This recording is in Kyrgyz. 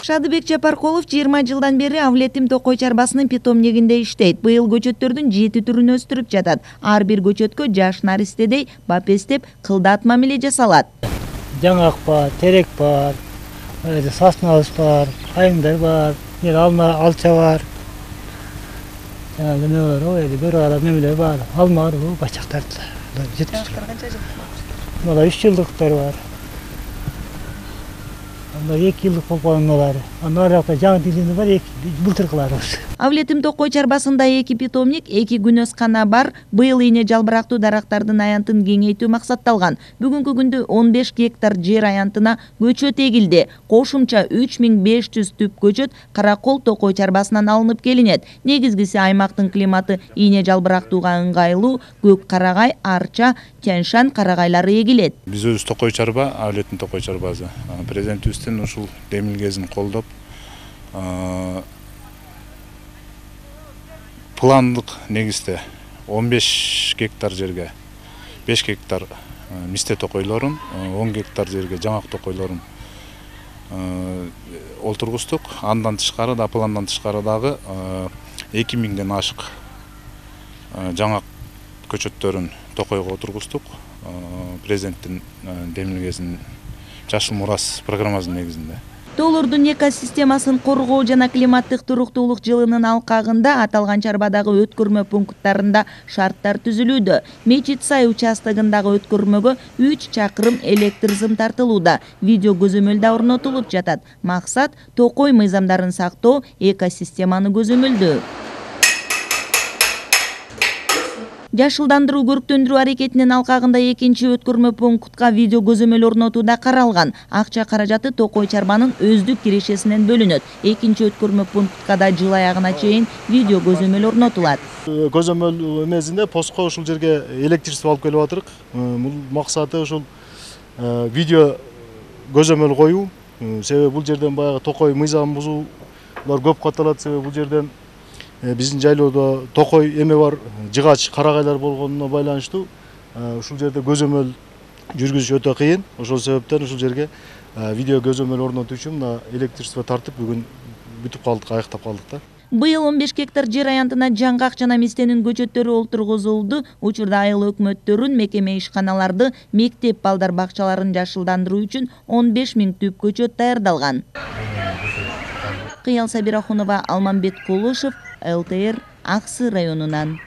Шадыбек Жапаркулов 20 жылдан бери Авлетим Токой чарбасынын питомнигинде иштейт. Быйыл көчөттөрдүн 7 түрүн өстүрүп жатат. Ар бир көчөткө жаш наристедей бапестеп кылдат мамиле жасалат. Жаңак бар, терек бар, сасналыс бар, айымдар бар, алма, алча бар. Бир ара мемелер бар, алма бар, бачактар. Мына 3 жылдыктар бар. 2 жылдык болгонлар. Аны аракта жаңы дилинде бар, былтыркыларыбыз. Авлетим Токой чарбасында 2 питомник, 2 күнөскана бар. Быйыл ийне жалбырактуу дарактардын аянтын кеңейтүү максатталган. Бүгүнкү күндө 15 гектар жер аянтына көчөт эгилди. Кошумча 3500 түп көчөт Каракол Токой чарбасынан алынып келинет. Негизгиси аймактын климаты ийне жалбырактууга ыңгайлуу, көк карагай, арча, тянь-шань карагайлары эгилет. Биз өзүбүз Токой чарба, Авлетим Токой чарбасы. Президентибиздин ушул демилгесин колдоп, пландык негизде 15 гектар жерге 5 гектар мисте токойлорун, 10 гектар жерге жаңак токойлорун олтургуздук. Андан тышкары да, пландан тышкары дагы 2000ден ашык жаңак көчөттөрүн токойго отургуздук. Президенттин демилгесин Жашыл мурас программасынын негизинде. Тоолордун экосистемасын коргоо жана климаттык туруктуулук жылынын алкагында аталган чарбадагы өткөрмө пункттарында шарттар түзүлүүдө. Мечит сай участогундагы өткөрмөгө 3 чакырым электр сым тартылууда. Видео көзөмөл да орнотулуп жатат. Максат Токой мыйзамдарын сактоо, экосистеманы көзөмөлдөө. Жашылдандыруу көрктөндүрүү аракетинин алкагында 2-чи өткөрмө пунктка видео көзөмөл орнотууда каралган. Акча каражаты Токой чарбанын өздүк кирешесинен бөлүнөт. 2-чи өткөрмө пунктка да жыл аягына чейин видео көзөмөл орнотулат. Көзөмөл эмесинде постко ушул жерге электричество алып келип атырык. Бул максаты ушул видео көзөмөл коюу. Себеби бул жерден баягы Токой мыйзамын бузуулар көп катталат. Себеби бул жерден биздин жайлоодо Токой эме бар, жыгач карагайлар болгонуна байланыштуу ушул жерде көзөмөл жүргүзүш өтө кыйын. Ошол себептен ушул жерге видео көзөмөл орнотуу үчүн электричество тартып бүгүн бүтүп калдык, аяктап калдык да. Быйыл 15 гектар жер аянтына жаңгак жана мистенин көчөттөрү олтургузулду. Учурда айыл өкмөттөрүн, мекеме ишканаларды, мектеп балдар бакчаларын жашылдандыруу үчүн 15 000 түп көчөт даярдалган. Кыял Сабирахунова, Алмамбет Кулушев, ЛТР, Аксы районунан.